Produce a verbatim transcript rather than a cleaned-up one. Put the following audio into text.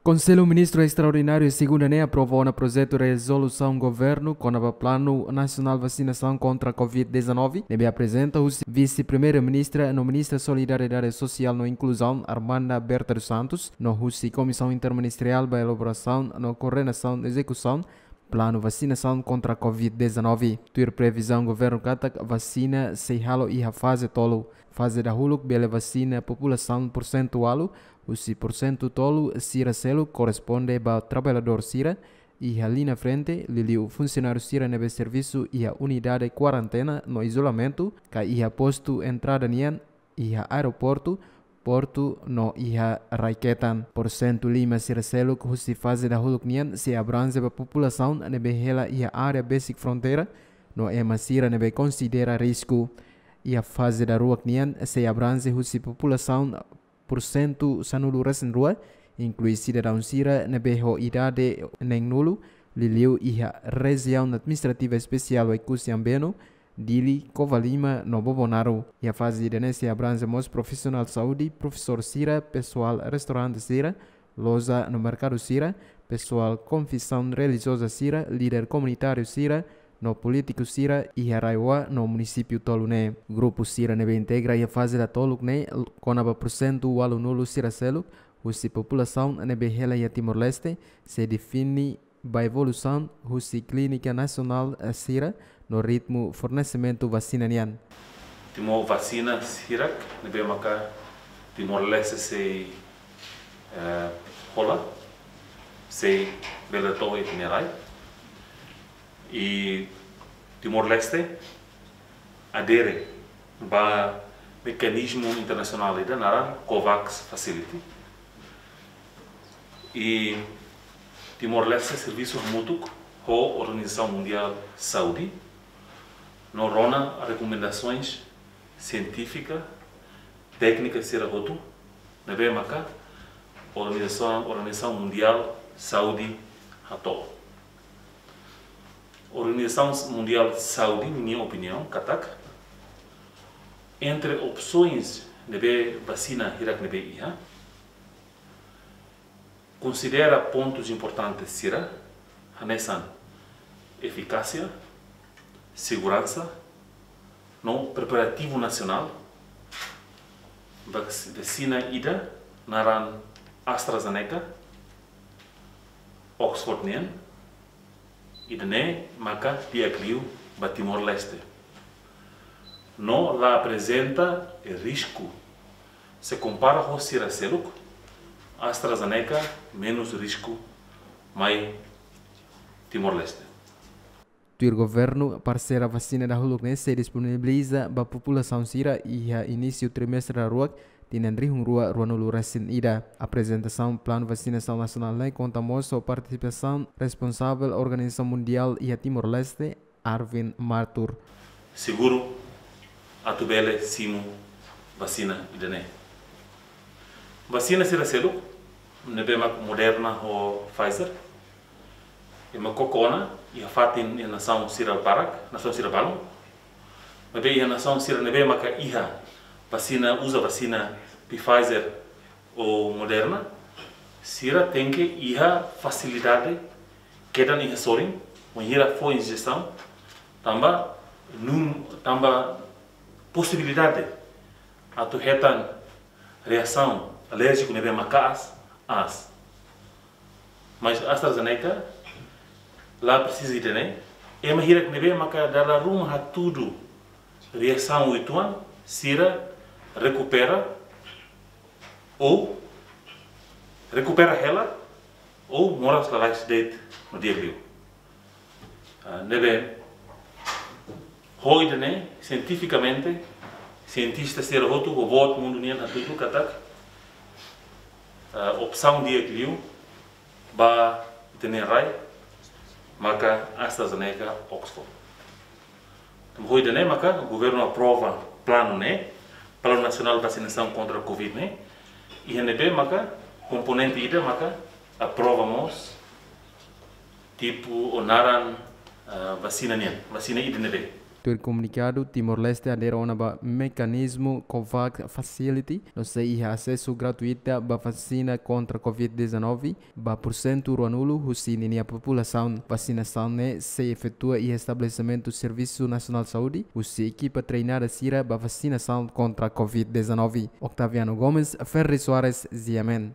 Konsellu Ministru Estraordináriu segunda ne'e aprova ona projetu rezolusaun governu kona-ba Planu Nasionál Vasinasaun kontra covid dezanove, ne'ebé aprezenta husi Vise-Primeiru-Ministra no Ministra Solidariedade Sosiál no Inkluzaun, Armanda Berta dos Santos, no husi Komisaun Interministeriál ba Elaborasaun no Koordenasaun Ezekusaun Planu Vasinasaun kontra covid dezanove. Tuir previzaun governu katak vasina sei halo iha faze tolu. Faze dahuluk bele vasina populasaun porsentu ualu, husi porsentu tolu sira seluk korresponde ba traballadór sira iha liña frente, liuliu funsionáriu sira ne'ebé servisu iha unidade kuarentena no izolamentu, ka iha postu entrada nian, iha aeroportu, portu no iha rai-ketan. Porsentu lima sira seluk husi faze dahuluk nian sei abranje ba populasaun ne'ebé hela iha área besik fronteira no ema sira ne'ebé konsidera risku. Iha faze daruak nian sei abranje husi populasaun porsentu sanulu-resin-rua, inklui sidadaun sira ne'ebé ho idade neen-nulu, liuliu iha Rejiaun Administrativa Espesiál Oekusi Ambeno, Dili, Covalima no Bobonaro. Iha faze ida-ne'e sei abranje mós profisionál saúde, profesór sira, pesoál restaurante sira, loja no merkadu sira, pesoál konfesaun relijioza sira, líder komunitáriu sira, no polítiku sira iha RAEOA no munisípiu tolu ne'e. Grupu sira ne'ebé integra iha faze datoluk ne'e kona-ba porsentu ualunulu sira seluk husi populasaun ne'ebé hela iha Timor-Leste, sei define ba evolusaun husi klínika nasionál sira no ritmu fornesimentu vasina nian. Timor vasina sira ne'ebé maka Timor-Leste sei, eh, hola, sei bele to'o iha ita-nia rai. I Timor-Leste adere ba mekanizmu internasionál ida naran COVAX Facility. I Timor-Leste servisu hamutuk ho Organizasaun Mundiál Saúde, no rona rekomendasoens sientífika, téknika sira hotu ne'ebé maka Organizasaun, Organizasaun Mundiál Saúde hato'o. Organizasaun Mundiál Saúde, ninia opiniaun katak, entre opsoens ne'ebé vasina hirak ne'ebé iha, konsidera pontus importantes sira, hanesan efikásia, seguransa, no preparativu nasionál. Vax-, vasina ida naran AstraZeneca, Oxford nian, ida-ne'e maka di'ak liu ba Timor-Leste. No la aprezenta risku. Se kompara ho sira seluk, AstraZeneca menus risku mai Timor-Leste. Tuir governu, parseira vasina dahuluk ne'e sei disponibiliza ba populasaun sira iha inísiu trimestre daruak, tinan rihun rua ruanulu-resin-ida. Aprezentasaun planu vasinasaun nasionál ne'e konta mós ho partisipasaun responsavel Organizasaun Mundiál iha Timor-Leste, Arvind Mathur. Seguru atu bele simu vasina ida-ne'e. Vasina sira seluk, ne'ebé mak Moderna ho Pfizer, ema koko ona iha fatin iha nasaun sira barak, nasaun sira balun. Maibé iha nasaun sira ne'ebé maka iha vasina, uza vasina Pfizer ou Moderna, sira tenke iha fasilidade kedan iha sorin, wainhira fó injesaun, tanba nun, tanba posibilidade atu hetan reasaun alérjiku ne'ebé maka'as, aas. Mas AstraZeneca la presiza ida-ne'e, ema hirak ne'ebé maka dala ruma hatudu reasaun uitoan, sira rekupera ou rekupera hela ou moras lalais de'it no di'ak liu. Ah, ne'ebé, ho ida-ne'e, sientifikamente, sientista sira hotu ho boot mundu nian hatudu katak, ah, opsaun di'ak liu ba ita-nia rai maka AstraZeneca, Oxford. Tanba ho ida-ne'e maka governu aprova planu ne'e, Planu Nasionál Vasinasaun kontra covid ne'e, iha ne'ebé maka komponente ida maka aprova mós tipu ou naran, ah, vasina nian, vasina ida ne'ebé. Tuir komunikadu, Timor-Leste adere ona ba mekanizmu COVAX Facility, no sei iha asesu gratuita ba vasina kontra COVID-19 ba porsentu ruanulu husi ninia populasaun. Vasinasaun ne'e sei efetua iha estabelesimentu Servisu Nasionál Saúde husi ekipa treinada sira ba vasinasaun kontra COVID-19. Octaviano Gomes, Ferri Soares, G M N.